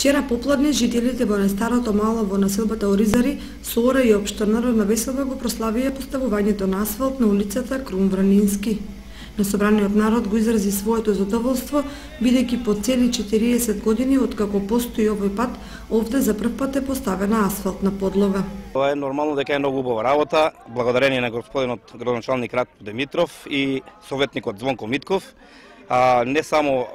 Вчера попладне жителите во најстарото мало во населбата Оризари, Соора и општина Народна весела го прославија поставувањето на асфалт на улицата Крун Вранински. На собраниот народ го изрази своето задоволство, бидејќи по цели 40 години откако постои овој пат, овде за прв пат е поставена асфалтна подлога. Тоа е нормално дека е многу убава работа, благодарение на господинот градоначалник Ратко Димитров и советникот Звонко Митков, не само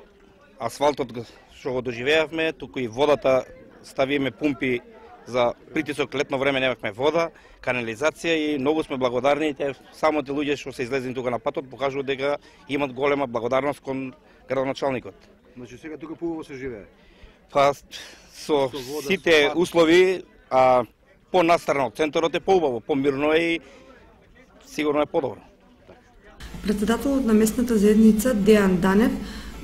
асфалтот што го доживеавме, туку и водата, ставиме пумпи за притисок, летно време немавме вода, канализација и многу сме благодарни. Само те луѓе што се излезени тука на патот покажуваат дека имат голема благодарност кон градоначалникот. Значи сега тука поубаво се живее? Па со сите услови, понастрано од центарот е поубаво, помирно е и сигурно е подобро. Председателот на местната заедница Дејан Данев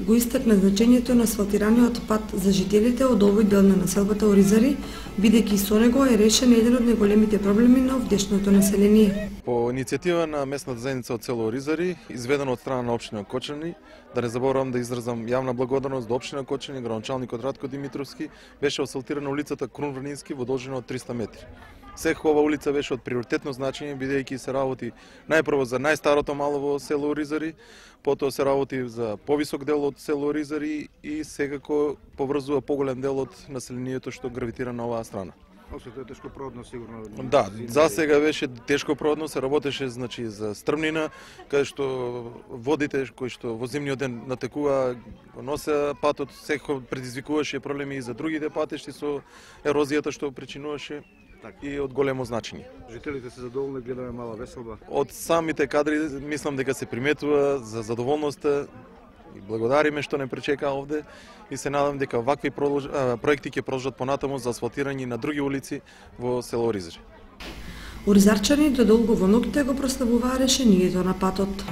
го истакна значењето на асфалтираниот пат за жителите од овој дел на населбата Оризари, бидејќи со него е решен еден од најголемите проблеми на овдешното население. По иницијатива на местната заедница од село Оризари, изведено од страна на општина Кочани, да не заборавам да изразам јавна благодарност до општина Кочани, градоначалникот Ратко Димитровски, беше асфалтирана улицата Крун Вранински во должина од 300 метри. Секоја ова улица беше од приоритетно значење, бидејќи се работи најпрво за најстарото мало во село Оризари, потоа се работи за повисок дел од село Оризари и секако поврзува поголем дел од населението што гравитира на оваа страна. Осето е тешкопродно сигурно. Да, за сега беше тешкопродно, се работеше значи за стрмнина, каде што водите кои што во зимниот ден натекува носе патот, секој предизвикуваше проблеми и за другите патишти со ерозијата што причинуваше. И од големо значење. Жителите се задоволни, гледаме мала веселба. Од самите кадри мислам дека се приметува за задоволноста и благодариме што не пречека овде и се надам дека вакви проекти ќе продолжат понатаму за асфалтирање на други улици во село Оризари. Оризарчани до долго во ноќите го прославуваа решението на патот.